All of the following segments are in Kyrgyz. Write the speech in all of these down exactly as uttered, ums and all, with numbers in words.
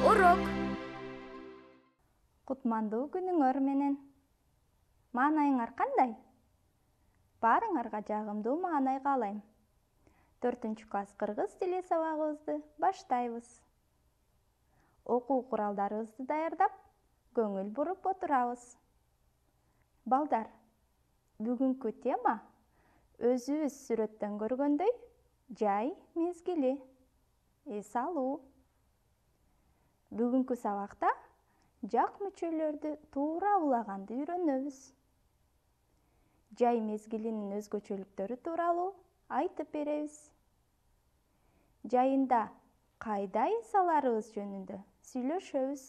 урок. Кутмандуу күнүңөр менен. Маанайыңар кандай? Баарыңарга жагымдуу маанай каалайм. төртүнчү класс кыргыз тили сабагыбызды баштайбыз. Окуу куралдарыбызды даярдап, көңүл буруп отурабыз. Балдар, бүгүнкү тема өзүбүз сүрөттөн көргөндөй жай мезгили. Эс алуу. Бүгүнкү сабакта жак мүчөлөрдү туура улаганды үйрөнөбүз. Жай мезгилинин өзгөчөлүктөрү тууралуу айтып беребиз. Жайында кайда эс аларыбыз жөнүндө сүйлөшөбүз.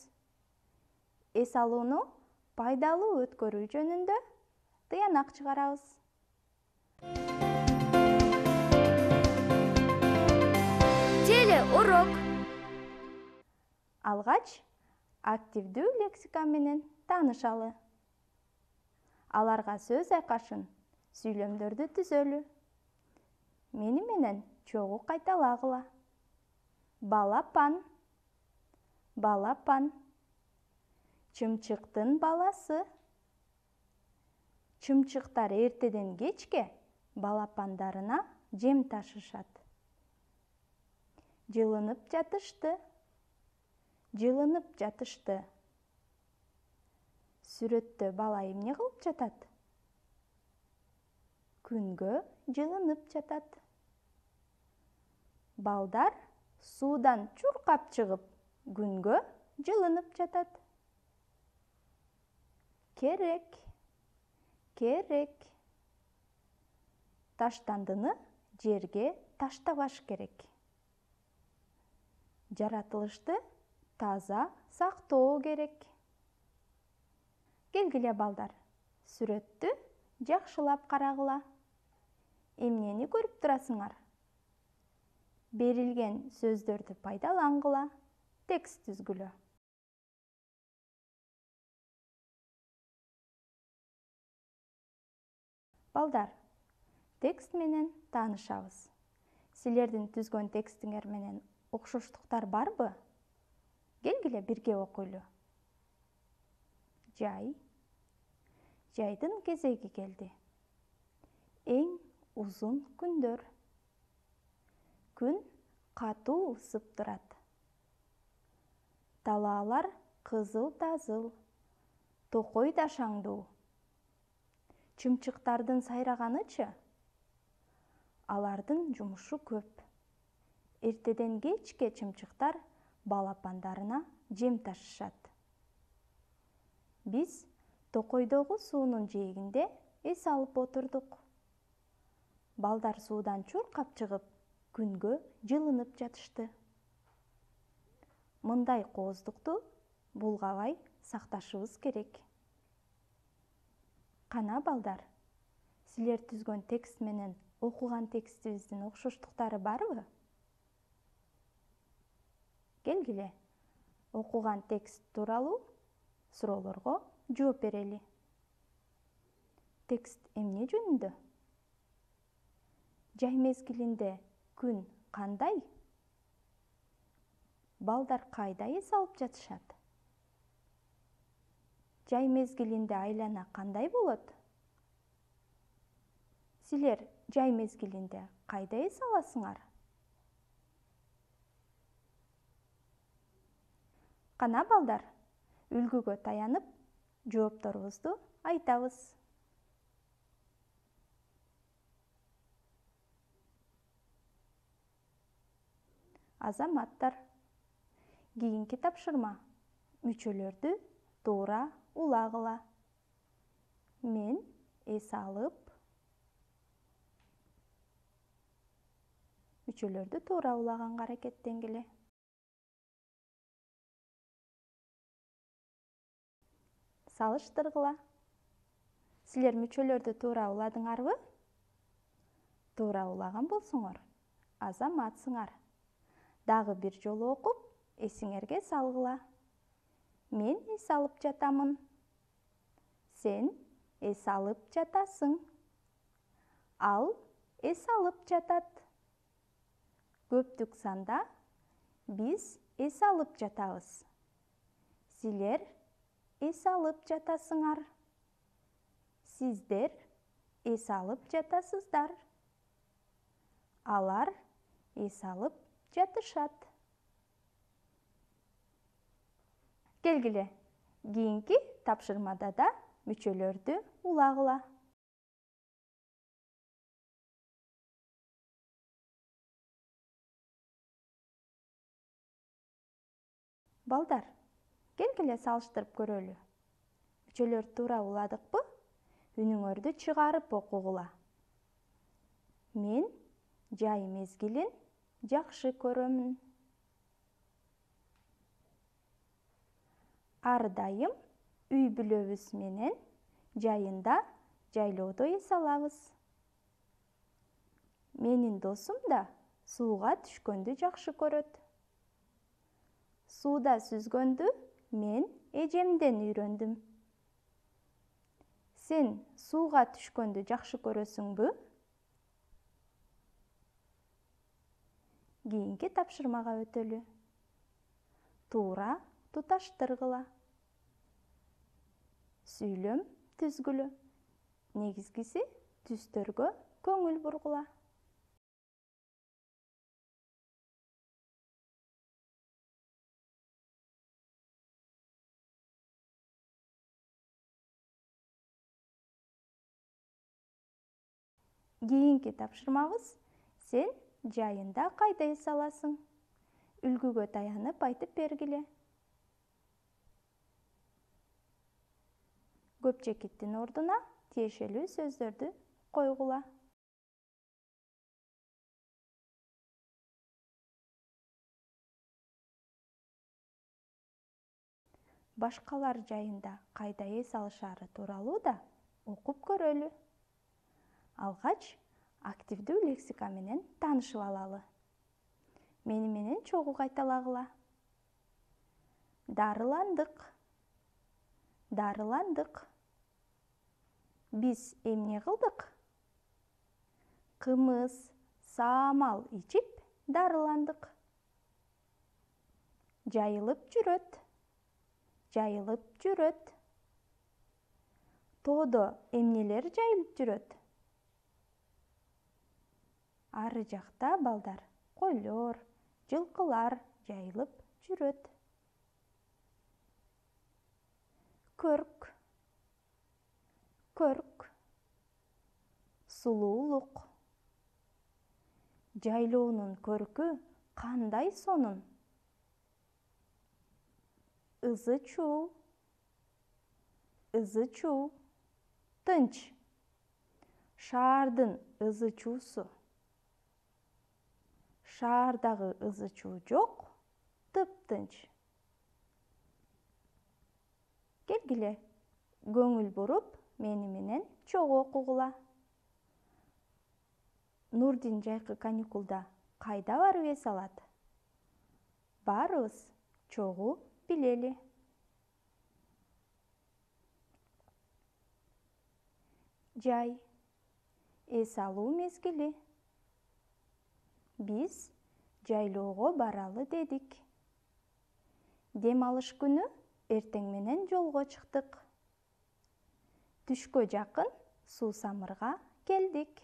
Эс алууну пайдалуу өткөрүү жөнүндө тыянак чыгарабыз. Телеурок. Алгач активдүү лексика менен таанышалы. Аларга сөз айкашын, сүйлөмдөрдү түзөлү. Мени менен чогуу кайталагыла. Балапан. Балапан. Чымчыктын баласы. Чымчыктар эртеден кечке балапандарына жем ташышат. Жылынып жатышты. Жылынып жатышты. Сүрөттө бала эмне кылып жатат? Күнгө жылынып жатат. Балдар суудан чуркап чыгып, күнгө жылынып жатат. Керек. Керек. Таштандыны жерге таштабаш керек. Жаратылышты таза сактоо керек. Келгиле балдар, сүрөттү жакшылап карагыла. Эмнени көрүп турасыңар? Берилген сөздөрдү пайдалангыла. Текст түзгүлө. Балдар, текст менен таанышабыз. Силердин түзгөн текстиңер менен окшоштуктар барбы? Келгиле бирге окуйлу. Жай. Жайдын кезеги келди. Эң узун күндөр. Күн катуу ысып турат. Талаалар кызыл-тазыл, токой да шаңдуу. Чымчыктардын сайраганычы? Алардын жумушу көп. Эртеден кечке чымчыктар балапандарына жем ташышат. Биз токойдогу суунун жээгинде эс алып отурдук. Балдар суудан чуркап чыгып, күнгө жылынып жатышты. Мындай кооздукту булгабай сакташыбыз керек. Кана балдар, силер түзгөн текст менен окуган текстибиздин окшоштуктары барбы? Келгиле, окуган текст тууралуу суроолорго жооп берели. Текст эмне жөнүндө? Жай мезгилинде күн кандай? Балдар кайда эс алып жатышат? Жай мезгилинде айлана кандай болот? Силер жай мезгилинде кайда эс аласыңар? Кана балдар, үлгүгө таянып, жоопторубузду айтабыз. Азаматтар, кийинки тапшырма. Мүчөлөрдү туура улагыла. Мен эс алып, мүчөлөрдү туура улаганга аракеттенгиле. Салыштыргыла. Силер мүчөлөрдү туура уладыңарбы? Туура улаган болсоңор, азаматсыңар. Дагы бир жолу окуп, эсиңерге салгыла. Мен эс алып жатамын. Сен эс алып жатасың. Ал эс алып жатат. Көптүк санда биз эс алып жатабыз. Силер эс алып жатасыңар. Сиздер эс алып жатасыздар. Алар эс алып жатышат. Келгиле, кийинки тапшырмада да мүчөлөрдү улагыла. Балдар, келгиле салыштырып көрөлү. Мүчөлөрдү туура уладыкпы? Үнүңөрдү чыгарып окугула. Мен жай мезгилин жакшы көрөмүн. Ар дайым үй-бүлөбүз менен жайында жайлоодо эс алабыз. Менин досум да сууга түшкөндү жакшы көрөт. Сууда сүзгөндү мен эжемден үйрөндүм. Сен сууга түшкөндү жакшы көрөсүңбү? Кийинки тапшырмага өтөлү. Туура туташтыргыла. Сүйлөм түзгүлө. Негизгиси түстөргө көңүл бургула. Кийинки тапшырмабыз сен жайында кайда эс аласың? Үлгүгө таянып айтып бергиле. Көпчекиттин ордуна тиешелүү сөздөрдү койгула. Башкалар жайында кайда эс алышары тууралуу да окуп көрөлү. Алгач, активдүү лексика менен таанышып алалы. Мени менен чогуу кайталагыла. Дарыландык. Дарыландык. Биз эмне кылдык? Кымыз, саамал ичип дарыландык. Жайылып жүрөт. Жайылып жүрөт. Тоодо эмнелер жайылып жүрөт? Ары жакта балдар, койлор, жылкылар жайылып жүрөт. Көрк. Көрк. Сулуулук. Жайлоонун көркү кандай сонун? Ызы-чуу. Ызы-чуу. Тынч. Шаардын ызы-чуусу. Шаардагы ызы-чуу жок, тыптынч. Келгиле, көңүл буруп, мени менен чогуу окугула. Нурдин жайкы каникулда кайда барып эс алат? Баарыбыз чогуу билели. Жай. Эс алуу мезгили. Биз жайлоого баралы дедик. Дем алыш күнү эртең менен жолго чыктык. Түшкө жакын суусамырга келдик.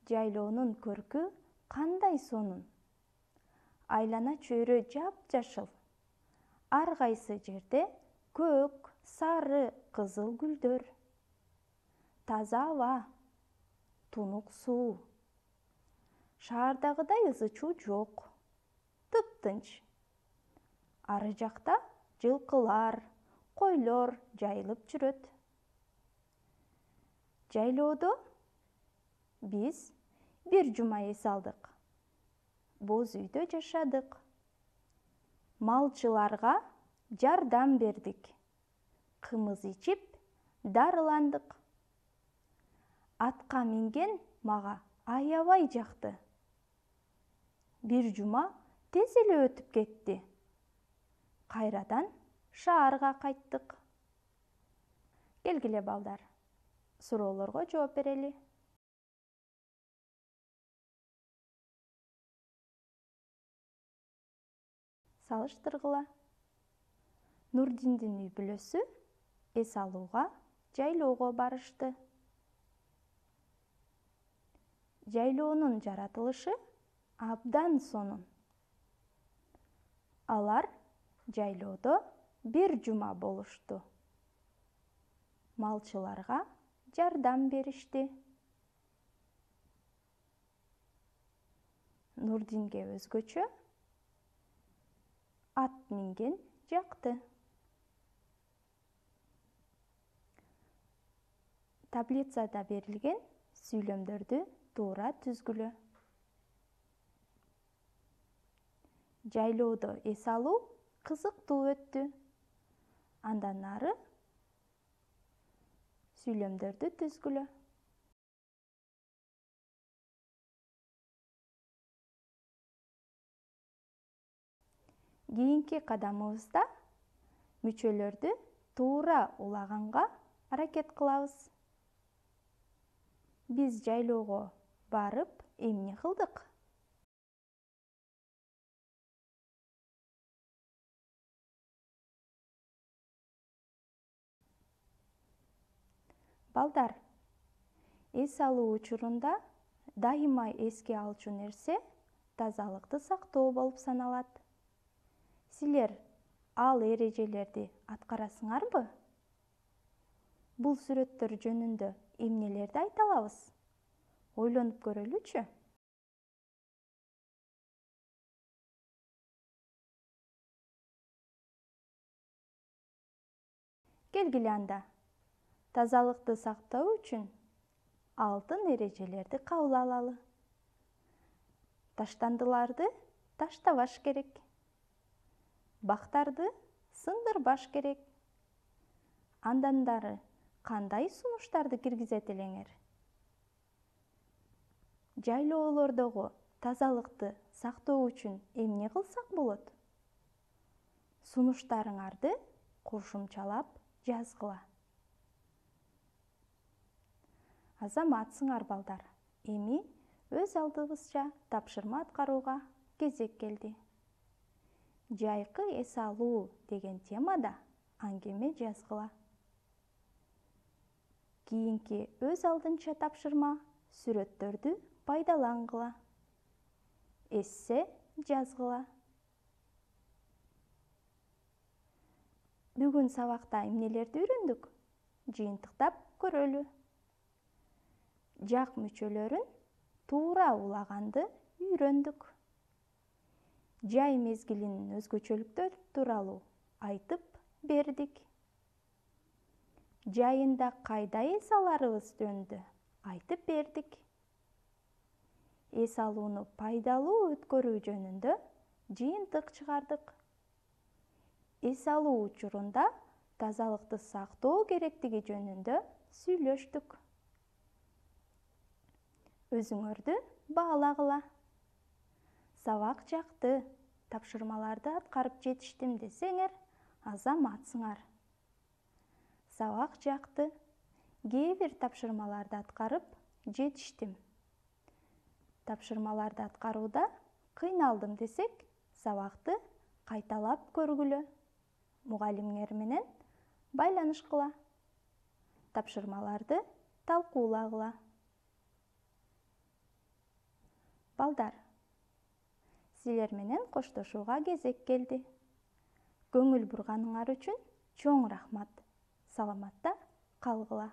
Жайлоонун көркү кандай сонун? Айлана чөйрө жап-жашыл. Ар кайсы жерде көк, сары, кызыл гүлдөр. Таза аба, тунук суу. Шаардагыдай ызы-чуу жок, тыптынч. Ары жакта жылкылар, койлор жайылып жүрөт. Жайлоодо биз бир жума эс алдык. Боз үйдө жашадык. Малчыларга жардам бердик. Кымыз ичип дарыландык. Атка минген мага аябай жакты. Бир жума тез эле өтүп кетти. Кайрадан шаарга кайттык. Келгиле балдар, суроолорго жооп берели. Салыштыргыла. Нурдиндин үй бүлөсү эс алууга жайлоого барышты. Жайлоонун жаратылышы абдан сонун. Алар жайлоодо бир жума болушту. Малчыларга жардам беришти. Нурдинге өзгөчө ат минген жакты. Таблицада берилген сүйлөмдөрдү туура түзгүлө. Жайлоодо эс алуу кызыктуу өттү. Андан ары сүйлөмдөрдү түзгүлө. Кийинки кадамыбызда мүчөлөрдү туура улаганга аракет кылабыз. Биз жайлоого барып эмне кылдык? Балдар, эс алуу учурунда дайыма эске алчу нерсе тазалыкты сактоо болуп саналат. Силер ал эрежелерди аткарасыңарбы? Бул сүрөттөр жөнүндө эмнелерди айта алабыз? Ойлонуп көрөлүчү. Келгиле анда. Тазалыкты сактоо үчүн алтын эрежелерди кабыл алалы. Таштандыларды таштабаш керек. Бактарды сындырбаш керек. Андандары кандай сунуштарды киргизет элеңер? Жайлоолордогу тазалыкты сактоо үчүн эмне кылсак болот? Сунуштарыңарды кошумчалап жазгыла. Азаматсыңар балдар. Эми өз алдыбызча тапшырма аткарууга кезек келди. Жайкы эс алуу деген темада аңгеме жазгыла. Кийинки өз алдынча тапшырма сүрөттөрдү пайдалангыла. Эссе жазгыла. Бүгүн сабакта эмнелерди үйрөндүк? Жыйынтыктап көрөлү. Жак мүчөлөрүн туура улаганды үйрөндүк. Жай мезгилинин өзгөчөлүктөрү тууралуу айтып бердик. Жайында кайда эс аларыбыз жөнүндө айтып бердик. Эс алууну пайдалуу өткөрүү жөнүндө жыйынтык чыгардык. Эс алуу учурунда тазалыкты сактоо керектиги жөнүндө сүйлөштүк. Өзүңөрдү баалагыла. Сабак жакты, тапшырмаларды аткарып жетиштим десеңер, азаматсыңар. Сабак жакты, кээ бир тапшырмаларды аткарып жетиштим. Тапшырмаларды аткарууда кыйналдым десек, сабакты кайталап көргүлө. Мугалимиңер менен байланышкыла. Тапшырмаларды талкуулагыла. Балдар, силер менен коштошууга кезек келди. Көңүл бурганыңар үчүн чоң рахмат. Саламатта калгыла.